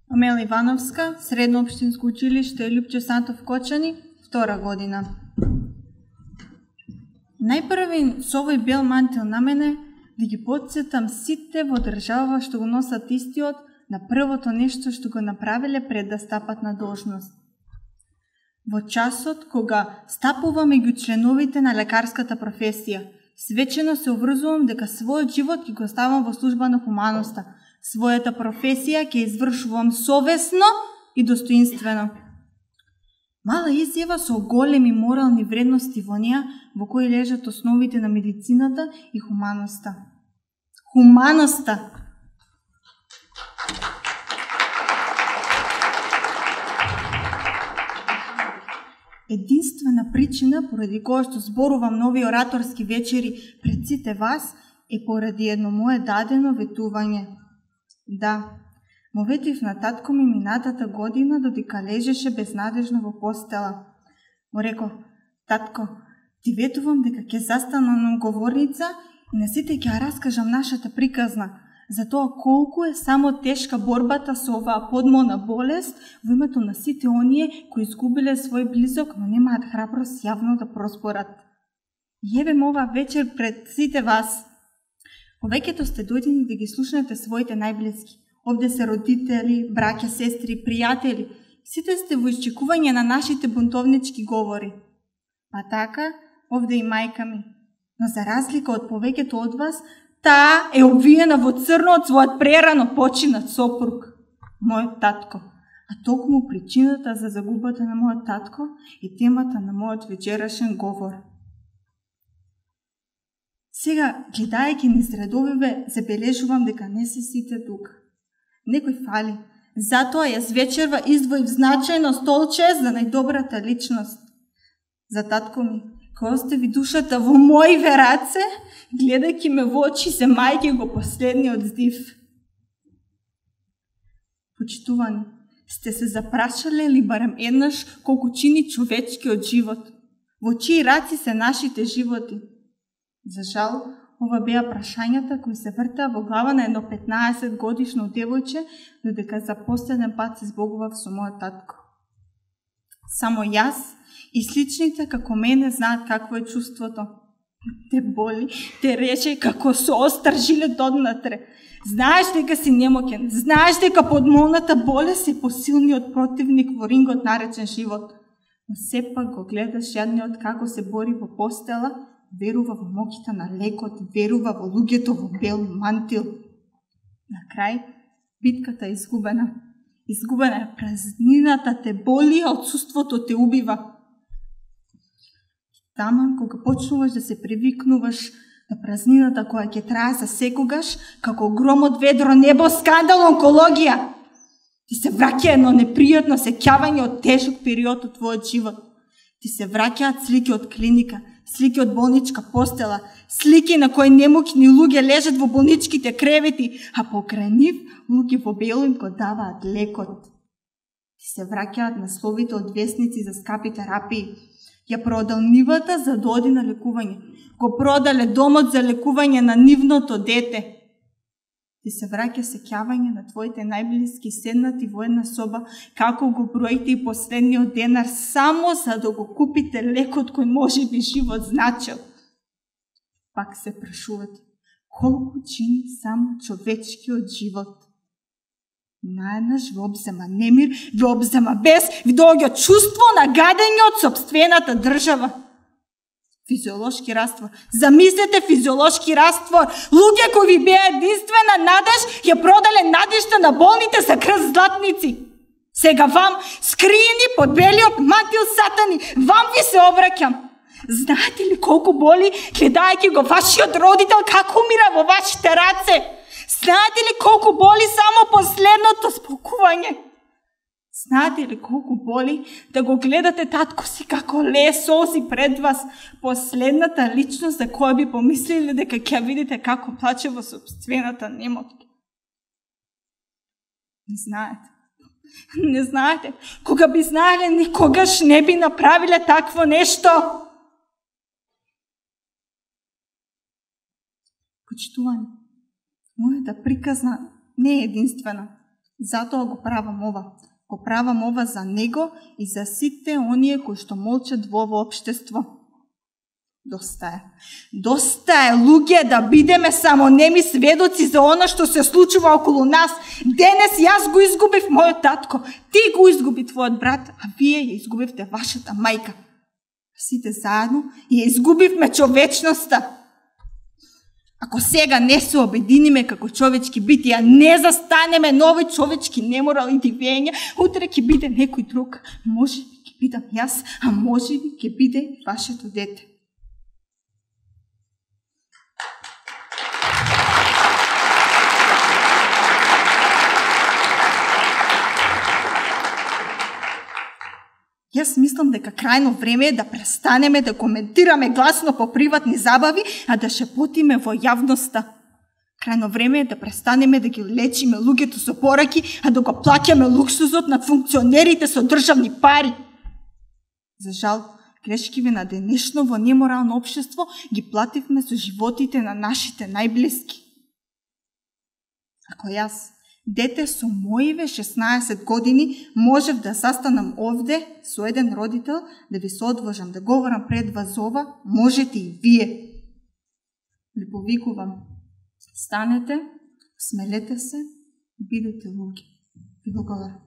Амела Ивановска, Средно општинско училиште Лјупче Сантов Кочани, 2 година. Најпрви со овој бел мантил на мене да ги потсетам сите во држава што го носат истиот на првото нешто што го направиле пред да стапат на должност. Во часот кога стапувам меѓу членовите на лекарската професија, свечено се обврзувам дека својот живот ќе го ставам во служба на хуманоста. Својата професија ќе извршувам совесно и достоинствено. Мала изјава со големи морални вредности во неа, во кои лежат основите на медицината и хуманоста. Хуманоста! Единствена причина поради која што зборувам на овие ораторски вечери пред сите вас е поради едно мое дадено ветување. Да, му ветив на татко ми минатата година додека лежеше безнадежно во постела. Му реков: татко, ти ветувам дека ќе застанам на говорница и на сите ќе раскажам нашата приказна, за тоа колку е само тешка борбата со оваа подмолна болест во името на сите оние кои изгубиле свој близок, но немаат храброст јавно да проспорат. Јевем ова вечер пред сите вас. Повеќето сте дојдени да ги слушнете своите најблиски. Овде се родители, браќа, сестри, пријатели. Сите сте во исчекување на нашите бунтовнички говори. Па така, овде и мајка ми. Но за разлика од повеќето од вас, таа е обвиена во црно од својот прерано починат сопруг, мојот татко. А токму причината за загубата на мојот татко е темата на мојот вечерашен говор. Сега, гледајќи низ редовиве, забележувам дека не се сите тука. Некој фали. Затоа јас вечерва издвоив значајно столче за најдобрата личност. За татко ми, кој остави душата во мојиве раце, гледајќи ме во очи, земајќи го последниот здив. Почитувани, сте се запрашале ли барем еднаш колку чини човечкиот живот? Во чии раци се нашите животи? За жал, ова беа прашањата кои се вртаа во глава на едно 15 годишно девојче, додека за последен пат се збогував со мојот татко. Само јас и сличните како мене знаат какво е чувството. Те боли, те рече како со остар жилет однатре. Знаеш дека си немоќен, знаеш дека подмолната болест е посилниот противник во рингот наречен живот. Но сепак го гледаш јадниот како се бори во постела, верува во моќта на лекот, верува во луѓето во бел мантил. На крај, битката е изгубена. Изгубена е, празнината те боли, а отсуството те убива. Таман, кога почнуваш да се привикнуваш на празнината која ќе трае за секогаш, како гром од ведро небо, скандал, онкологија, ти се враќа едно непријатно сеќавање од тешок период од твојот живот. Ти се враќаат слики од клиника, слики од болничка постела, слики на кои немокни луѓе лежат во болничките кревети, а покрај нив луѓе во бело им го даваат лекот. Ти се враќаат насловите од весници за скапи терапии. Ја продал нивата за да оди на лекување. Го продале домот за лекување на нивното дете. Ти се враќа сеќавање на твоите најблиски седнати во една соба, како го броите и последниот денар само за да го купите лекот кој може би живот значил. Пак се прашувате, колку чини само човечкиот живот? Наеднаш ве обзема немир, ве обзема бес, ви доаѓа чувство на гадење од сопствената држава. Физиолошки раствор. Замислете физиолошки раствор. Луѓе кои ви беа единствена надеж, ја продале надежта на болните за крст златници. Сега вам, скриени под белиот мантил сатани, вам ви се обраќам. Знаете ли колку боли, гледајќи го вашиот родител како умира во вашите раце? Знаете ли колку боли само последното спокување? Знаете ли колку боли да го гледате татко си како лее солзи пред вас, последната личност за која би помислили дека ќе видите како плаче во собствената немотка? Не знаете. Не знаете. Кога би знаеле, никогаш не би направиле такво нешто. Почитувани, мојата приказна не е единствена. Затоа го правам ова. Го правам ова за него и за сите оние кои што молчат во ово општество. Доста е. Доста е, луѓе, да бидеме само неми сведоци за она што се случува околу нас. Денес јас го изгубив мојот татко, ти го изгуби твојот брат, а вие ја изгубивте вашата мајка. Сите заедно ја изгубивме човечноста. Ако сега не се обединиме како човечки битија, не застанеме нови човечки неморали дивења, утре ќе биде некој друг. Може би ќе бидам јас, а може би ќе биде и вашето дете. Јас мислам дека крајно време е да престанеме да коментираме гласно по приватни забави, а да шепотиме во јавноста. Крајно време е да престанеме да ги лечиме луѓето со пораки, а да го плаќаме луксузот на функционерите со државни пари. За жал, грешкиве на денешно во неморално општество ги плативме со животите на нашите најблиски. Ако јас, дете со моиве 16 години, можев да застанам овде со еден родител, да ви се одважам, да говорам пред вас ова, можете и вие. Ви повикувам, станете, смелете се, бидете луѓе. Ви благодарам.